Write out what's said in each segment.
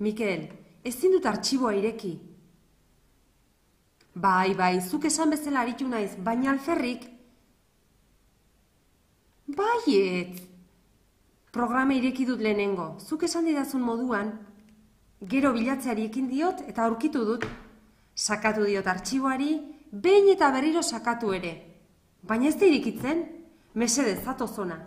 Mikel, ezin dut artxiboa ireki. Bai, zuk esan bezala aritu naiz, baina alferrik. Baietz! Programa ireki dut lehenengo, zuk esan didazun moduan. Gero bilatzeari ekin diot eta aurkitu dut. Sakatu diot artxiboari, behin eta berriro sakatu ere. Baina ez da irikitzen, mesedez zatoz ona.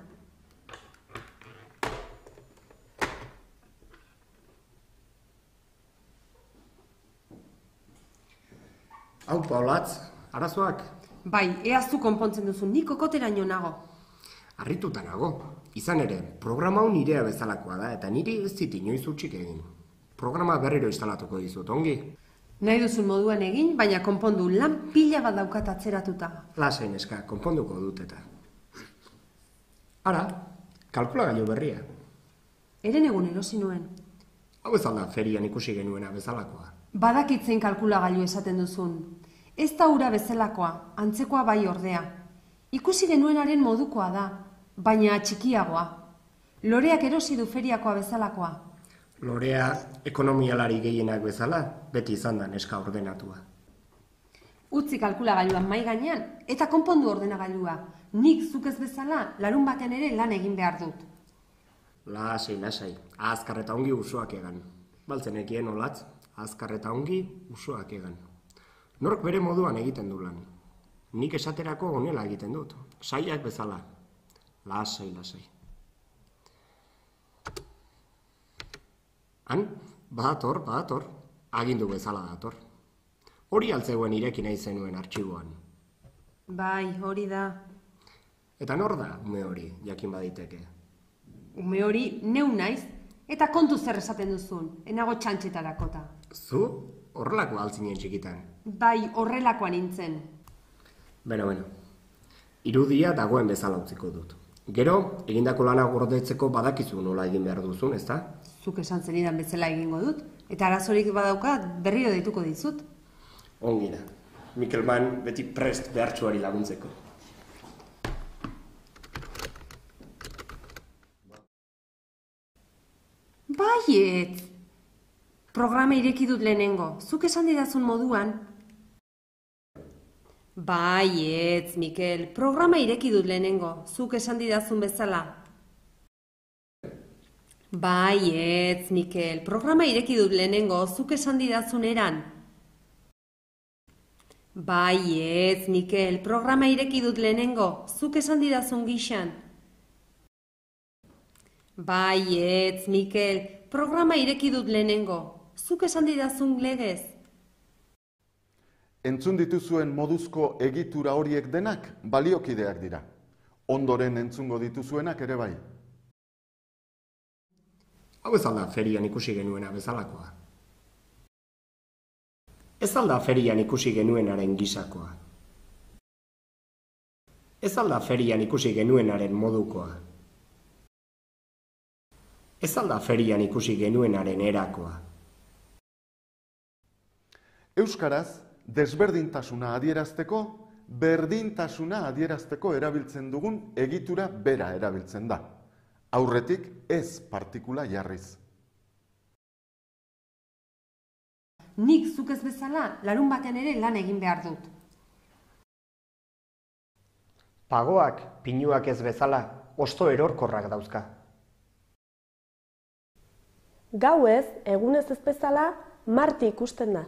Hau, Paulatz, arazoak? Bai, eaztu konpontzen duzu, nik kokoteraino nago. Harrituta nago. Izan ere, programa hau nirea bezalakoa da, eta niri ez zit inoiz utzik egin. Programa berriro instalatuko dizut, ongi? Nahi duzun moduan egin, baina konpondu lan pila bat daukat atzeratuta. Lasai neska, konponduko dut eta. Ara, kalkulagailu berria. Eren egun erosi nuen. Hau ez alda ferian ikusi genuena bezalakoa. Badakitzen kalkulagailu esaten duzun. Ez da ura bezalakoa, antzekoa bai ordea. Ikusi genuenaren modukoa da, baina txikiagoa. Loreak erosi du feriakoa bezalakoa. Lorea ekonomialari gehienak bezala, beti izan da neska ordenatua. Utzi kalkulagailuan mai gainean, eta konpondu ordenagailua. Nik zuk ez bezala, larun baten ere lan egin behar dut. Lasai, azkar eta ongi usoak egan. Baltzenekien olatz, azkar eta ongi usoak egan. Nork bere moduan egiten du lan. Nik esaterako honela egiten dut, saiak bezala. Lasai. Han, badator, agindu bezala dator. Hori altzegoen ireki nahi zenuen artxiboan. Bai, hori da. Eta nor da ume hori, jakin baditeke? Ume hori neu naiz, eta kontu zer esaten duzun, enago txantxetarakota. Zu, horrelako altzinen txikitan. Bai, horrelakoa nintzen. Beno, irudia dagoen bezala utziko dut. Gero, egindako lana gordetzeko badakizu nola egin behar duzun, ezta? Zuk esan zenidan bezala egingo dut, eta arazorik badaukat berriro deituko dizut. Ongi da. Mikelman beti prest behartsuari laguntzeko. Baietz! Programa ireki dut lehenengo, zuk esan didazun moduan. Baietz, Mikel, programa ireki dut lehenengo, zuk esan didazun bezala. Baietz, Mikel, programa ireki dut lehenengo, zuk esan didazun eran. Baietz, Mikel, programa ireki dut lehenengo, zuk esan didazun gixan. Baietz, Mikel, programa ireki dut lehenengo, zuk esan didazun legez. Entzun dituzuen moduzko egitura horiek denak baliokideak dira. Ondoren entzungo dituzuenak ere bai. Hau ez alda ferian ikusi genuena bezalakoa. Ez alda ferian ikusi genuenaren gisakoa. Ez alda ferian ikusi genuenaren modukoa. Ez alda ferian ikusi genuenaren erakoa. Euskaraz, desberdintasuna adierazteko, berdintasuna adierazteko erabiltzen dugun egitura bera erabiltzen da. Aurretik ez partikula jarriz. Nik zuk ez bezala, larun batean ere lan egin behar dut. Pagoak, pinuak ez bezala, hosto erorkorrak dauzka. Gauez, egunez ez bezala, marti ikusten da.